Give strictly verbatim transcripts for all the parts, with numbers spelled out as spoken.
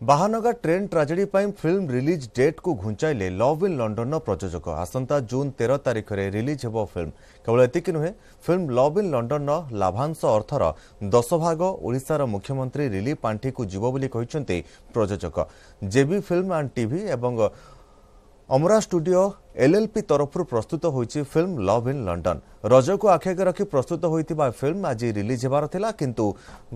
Bahanaga train tragedy ପାଇଁ film release ଡେଟ୍କୁ ଘୁଞ୍ଚାଇଲେ love in ଲଣ୍ଡନର ପ୍ରଯୋଜକ। ଆସନ୍ତା ଜୁନ୍ ତେର ତାରିଖରେ ରିଲିଜ୍ ହେବ ଫିଲ୍ମ। କେବଳ ଏତିକି ନୁହେଁ, ଫିଲ୍ମ ଲଭ୍ ଇନ୍ ଲଣ୍ଡନର ଲାଭାଂଶ ଅର୍ଥର ଦଶ ଭାଗ ଓଡ଼ିଶାର ମୁଖ୍ୟମନ୍ତ୍ରୀ ରିଲିଫ୍ ପାଣ୍ଠିକୁ ଯିବ ବୋଲି କହିଛନ୍ତି ପ୍ରଯୋଜକ। ଜେବି ଫିଲ୍ମ ଆଣ୍ଡ ଟିଭି ଏବଂ ଅମରା ଷ୍ଟୁଡିଓ ଏଲ୍ଏଲ୍ପି ତରଫରୁ ପ୍ରସ୍ତୁତ ହୋଇଛି ଫିଲ୍ମ ଲଭ୍ ଇନ୍ ଲଣ୍ଡନ। ରଜକୁ ଆଖିଆଗରେ ରଖି ପ୍ରସ୍ତୁତ ହୋଇଥିବା ଫିଲ୍ମ ଆଜି ରିଲିଜ୍ ହେବାର ଥିଲା, କିନ୍ତୁ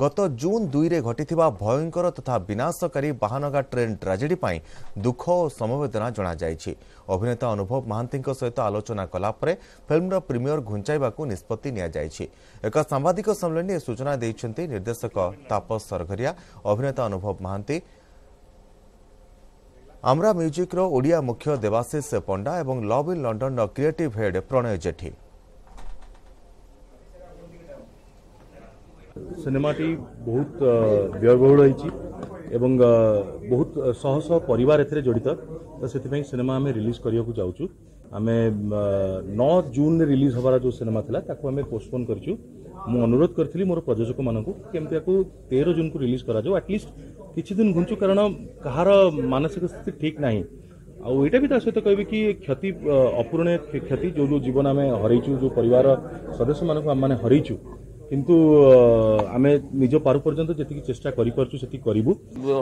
ଗତ ଜୁନ୍ ଦୁଇରେ ଘଟିଥିବା ଭୟଙ୍କର ତଥା ବିନାଶକାରୀ ବାହାନଗା ଟ୍ରେନ୍ ଟ୍ରାଜେଡି ପାଇଁ ଦୁଃଖ ଓ ସମବେଦନା ଜଣାଯାଇଛି। ଅଭିନେତା ଅନୁଭବ ମହାନ୍ତିଙ୍କ ସହିତ ଆଲୋଚନା କଲା ପରେ ଫିଲ୍ମର ପ୍ରିମିୟର ଘୁଞ୍ଚାଇବାକୁ ନିଷ୍ପତ୍ତି ନିଆଯାଇଛି। ଏକ ସାମ୍ବାଦିକ ସମ୍ମିଳନୀରେ ଏ ସୂଚନା ଦେଇଛନ୍ତି ନିର୍ଦ୍ଦେଶକ ତାପସ ସରଘରିଆ, ଅଭିନେତା ଅନୁଭବ ମହାନ୍ତି, ଆମ୍ରା ମ୍ୟୁଜିକ୍ର ଓଡ଼ିଆ ମୁଖ୍ୟ ଦେବାଶିଷ ପଣ୍ଡା ଏବଂ ଲଭ୍ ଇନ୍ ଲଣ୍ଡନର କ୍ରିଏଟିଭ୍ ହେଡ୍ ପ୍ରଣୟ ଜେଠୀ। ସିନେମାଟି ବହୁତ ବ୍ୟୟବହୁଳ ହେଇଛି ଏବଂ ବହୁତ ଶହ ଶହ ପରିବାର ଏଥିରେ ଜଡ଼ିତ, ତ ସେଥିପାଇଁ ସିନେମା ଆମେ ରିଲିଜ୍ କରିବାକୁ ଯାଉଛୁ। ଆମେ ନଅ ଜୁନରେ ରିଲିଜ୍ ହେବାର ଯେଉଁ ସିନେମା ଥିଲା, ତାକୁ ଆମେ ପୋଷ୍ଟପୋନ୍ କରିଛୁ। ମୁଁ ଅନୁରୋଧ କରିଥିଲି ମୋର ପ୍ରଯୋଜକମାନଙ୍କୁ କେମିତି ତାକୁ ତେର ଜୁନ୍କୁ ରିଲିଜ୍ କରାଯାଉ, ଆଟଲିଷ୍ଟ କିଛି ଦିନ ଘୁଞ୍ଚୁ, କାରଣ କାହାର ମାନସିକ ସ୍ଥିତି ଠିକ୍ ନାହିଁ। ଆଉ ଏଇଟା ବି ତା ସହିତ କହିବି କି କ୍ଷତି ଅପୂରଣୀୟ କ୍ଷତି, ଯେଉଁ ଯେଉଁ ଜୀବନ ଆମେ ହରେଇଛୁ, ଯେଉଁ ପରିବାର ସଦସ୍ୟମାନଙ୍କୁ ଆମେମାନେ ହରେଇଛୁ, କିନ୍ତୁ ଆମେ ନିଜ ପାରୁ ପର୍ଯ୍ୟନ୍ତ ଯେତିକି ଚେଷ୍ଟା କରିପାରୁଛୁ ସେତିକି କରିବୁ।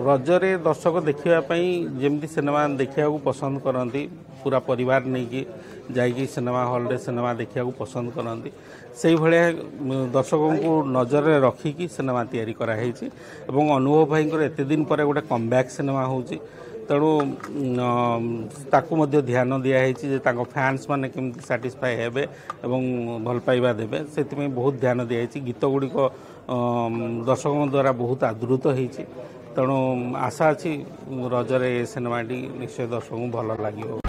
ରଜରେ ଦର୍ଶକ ଦେଖିବା ପାଇଁ ଯେମିତି ସିନେମା ଦେଖିବାକୁ ପସନ୍ଦ କରନ୍ତି, ପୁରା ପରିବାର ନେଇକି ଯାଇକି ସିନେମା ହଲ୍ରେ ସିନେମା ଦେଖିବାକୁ ପସନ୍ଦ କରନ୍ତି, ସେଇଭଳିଆ ଦର୍ଶକଙ୍କୁ ନଜରରେ ରଖିକି ସିନେମା ତିଆରି କରାହେଇଛି। ଏବଂ ଅନୁଭବ ଭାଇଙ୍କର ଏତେ ଦିନ ପରେ ଗୋଟେ କମ୍ବ୍ୟାକ୍ ସିନେମା ହେଉଛି, ତେଣୁ ତାକୁ ମଧ୍ୟ ଧ୍ୟାନ ଦିଆହେଇଛି ଯେ ତାଙ୍କ ଫ୍ୟାନ୍ସ ମାନେ କେମିତି ସାଟିସ୍ଫାଏ ହେବେ ଏବଂ ଭଲ ପାଇବା ଦେବେ, ସେଥିପାଇଁ ବହୁତ ଧ୍ୟାନ ଦିଆହେଇଛି। ଗୀତ ଗୁଡ଼ିକ ଦର୍ଶକଙ୍କ ଦ୍ୱାରା ବହୁତ ଆଦୃତ ହେଇଛି, ତେଣୁ ଆଶା ଅଛି ରଜରେ ଏ ସିନେମାଟି ନିଶ୍ଚୟ ଦର୍ଶକଙ୍କୁ ଭଲ ଲାଗିବ।